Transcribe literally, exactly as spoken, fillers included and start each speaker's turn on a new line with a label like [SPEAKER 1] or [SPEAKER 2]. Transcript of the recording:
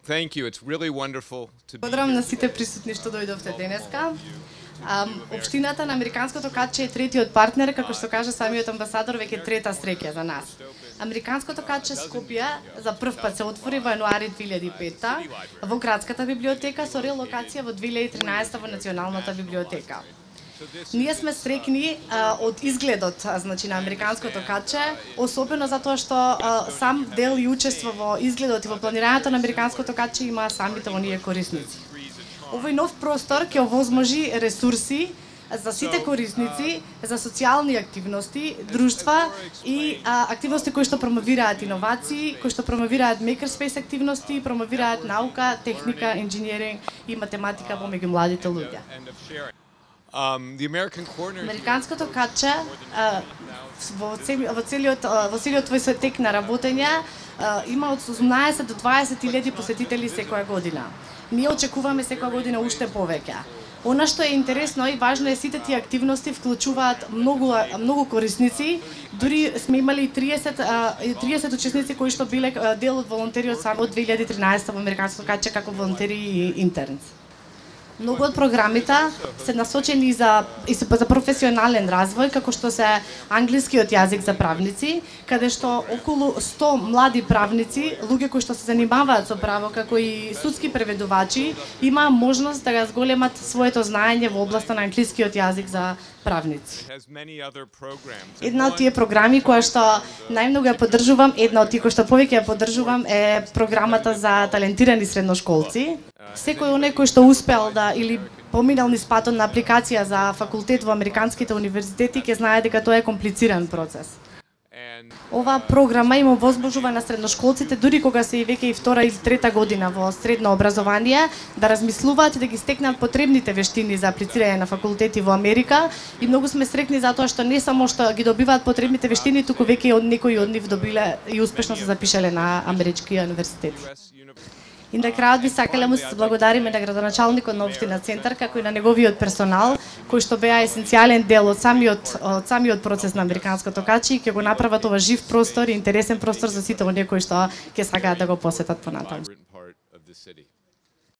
[SPEAKER 1] Thank you. It's really wonderful to be
[SPEAKER 2] Благодарам
[SPEAKER 1] here
[SPEAKER 2] на сите
[SPEAKER 1] today.
[SPEAKER 2] присутни што дојдовте денеска. Um, Општината на Американското каче е третиот партнер, како што кажа самиот амбасадор, веќе трета среќа за нас. Американското каче Скопје за прв пат се отвори во јануари две илјади и петта во градската библиотека со релокација во две илјади и тринаесетта во Националната библиотека. Ние сме среќни а, од изгледот, а, значи на Американското каче, особено затоа што а, сам дел и учество во изгледот и во планирањето на Американското каче има самите оние корисници. Овој нов простор ќе овозможи ресурси за сите корисници, за социјални активности, друштва и а, активности кои што промовираат иновации, кои што промовираат makerspace активности, промовираат наука, техника, инженеринг и математика помеѓу младите луѓе.
[SPEAKER 1] Um, the American Corner
[SPEAKER 2] Американското каче а, во, цели, во целиот во целиот твој тек на работење а, има од осумнаесет до дваесет илјади посетители секоја година. Ние очекуваме секоја година уште повеќе. Она што е интересно и важно е сите тие активности вклучуваат многу многу корисници. Дури сме имали триесет, триесет учесници кои што биле дел од волонтериот само од две илјади и тринаесетта во Американското каче како волонтери и интернс. Многу од програмите се насочени за и се за професионален развој, како што се англискиот јазик за правници, каде што околу сто млади правници, луѓе кои што се занимаваат со право, како и судски преведувачи, има можност да го зголемат своето знаење во областа на англискиот јазик за правници. Една од тие програми која што најмногу ја поддржувам, една од тие кои што повеќе ја поддржувам е програмата за талентирани средношколци. Секој оној кој што успел да или поминал низ патот на апликација за факултет во американските универзитети ќе знае дека тоа е комплициран процес. Оваа програма им овозможува на средношколците, дури кога се и веќе и втора или трета година во средно образование, да размислуваат и да ги стекнат потребните вештини за аплицирање на факултети во Америка. И многу сме среќни затоа што не само што ги добиваат потребните вештини, туку веќе од некои од нив добиле и успешно се запишале на амерички универзитети. И на крајот би сакале му се благодариме на градоначалникот на општина Центар, како и на неговиот персонал, кои што беа есенцијален дел од самиот од самиот процес на Американското каче и ќе го направат ова жив простор и интересен простор за сите оние кои што ќе сакаат да го посетат понатаму.